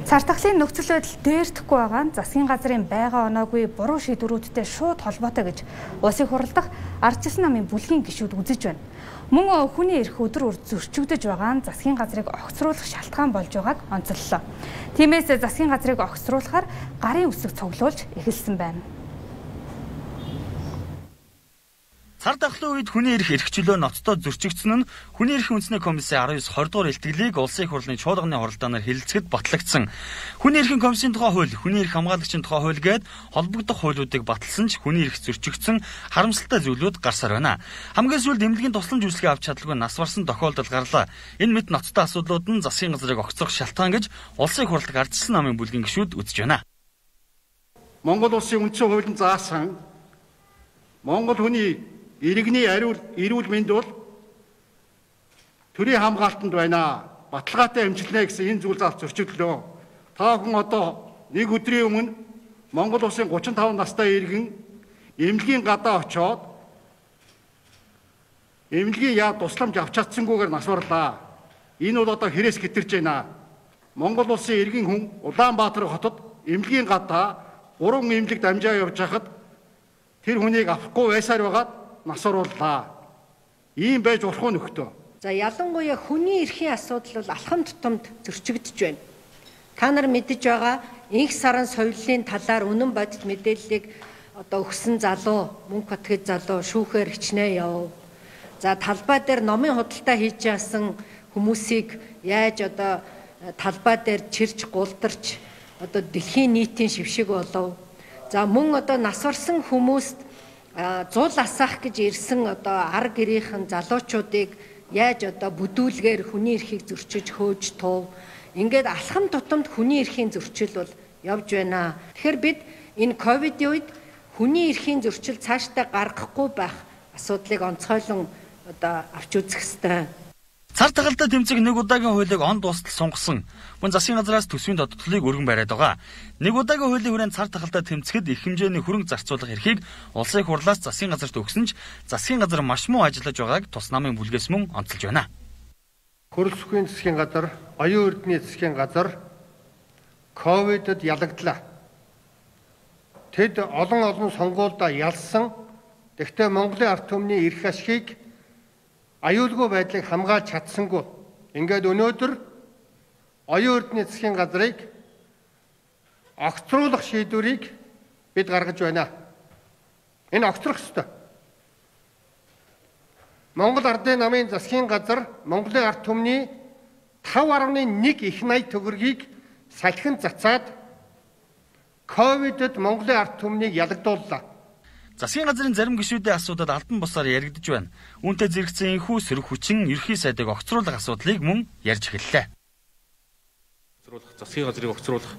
Цартахлын нөхцөл байдал дээрдэхгүй байгаа нь засгийн газрын байга оноогүй буруу шийдвэрүүдтэй шууд холбоотой гэж улсын хурал дахь ардчилсан намын бүлгийн гишүүд үзэж байна. Мөн хүний эрх өдөр зөрчигдөж байгаа нь засгийн газрыг огцруулах шалтгаан болж байгааг онцоллоо. Тиймээс засгийн газрыг огцруулахаар гарын үсэг цуглуулж эхэлсэн байна. Цар тахлын үед хүний эрх эрхчлөө ноцтой зөрчигдсөн нь хүний эрхийн үндэсний комиссийн 19 20 дугаар илтгэлийг улсын хурлын чуулганы оролдооноор хэлэлцэхэд батлагдсан. Хүний эрхийн комиссийн тухай хууль, хүний эрх хамгаалагчийн тухай хууль гээд холбогдох хуулиудыг баталсан ч хүний эрх зөрчигдсөн харамсалтай зүйлүүд гарсаар байна. Хамгийн сүүлд эмнэлгийн тусламж үйлчлэгээ авч чадлагүй нас барсан тохиолдол гарлаа. Энэ мэт ноцтой асуудлууд нь засгийн газрыг огцрох шалтгаан гэж улсын хурал дахь ардчилсан намын бүлгийн гишүүд үзэж байна. Монгол улсын үндсэн хуулийн заасан Монгол хүний иргэний эрүүл мэнд бол төрийн хамгаалтанд байна. Баталгаатай хэмжилнэ гэсэн энэ зүйл заалт зөрчигдлөө. Та бүхэн одоо нэг өдрийн өмнө Монгол улсын 35 настай иргэн эмнэлгийн гадаа очоод эмнэлгийн тусламж авч чадсангүйгээр нас барлаа. Энэ бол одоо хэрээс гитэрж байна. Монгол улсын иргэн хүн Улаанбаатар хотод эмнэлгийн гадаа 3 эмнэлэг дамжаа явж хахад тэр хүнийг авахгүй байсаар байгаад нас орууллаа. Ийм байж урах нөхтөө. За ялангуяа хүний эрхийн асуудал бол алхам тутамд зөрчигдөж байна. Та нар мэдэж байгаа инх саран соёлын талаар үнэн бодит мэдээллийг одоо өгсөн залуу, мөнгө батгаж залуу шүүхээр хичнээн яв. За талбай дээр номын худалдаа хийж яасан хүмүүсийг яаж одоо талбай дээр чирч гулдарч одоо дэлхийн нийтийн шившиг болов. За мөн одоо нас барсан хүмүүст зул асаах гэж ирсэн одоо ар гэрийнхэн залуучуудыг яаж одоо бүдүүлгээр хүний эрхийг зөрчиж хөөж тув. Ингээд алхам тутамд хүний эрхийн зөрчил бол явж байна. Тэгэхээр бид энэ ковидын үед хүний эрхийн зөрчил цаашдаа гаргахгүй байх асуудлыг онцгойлон одоо авч үзэх ёстой. Цар тахалтай тэмцэх нэг удаагийн хуулийг он дуустал сунгасан. Мөн засгийн газраас төсвийн тодтолыг өргөн бариад байгаа. Нэг удаагийн хуулийн хүрээнд цар тахалтай тэмцэхэд их хэмжээний хөрөнгө зарцуулах эрхийг улсын хурлаас засгийн газарт өгсөн ч засгийн газар маш муу ажиллаж байгааг тус намын бүлгээс мөн онцолж байна. Хөрөлс бүхий засгийн газар, оюун эрдэнэ засгийн газар ковидод ялагдлаа. Тэд олон сонгуульдаа ялсан. Тэгвэл Монголын ард түмний эрх ашгийг аюулгүй байдлыг хамгаалж чадсангүй. Ингээд өнөөдөр оюун эрдэнэ засгийн газрыг огцруулах шийдвэрийг бид гаргаж байна. Энэ огцрох ёстой. Монгол Ардын намын засгийн газар Монголын ард түмний 5.1 их 80 төгрөгийг салхин цацаад ковидод Монголын ард түмнийг ялагдууллаа. Засгийн газрын зарим гишүүдийн асуудад албан бусаар яригдж байна. Үүнтэй зэрэгцэн энхүү сөрөг хүчин ерхий сайдыг огцруулах асуудлыг мөн ярьж эхэллээ. Засгийн газрыг огцруулах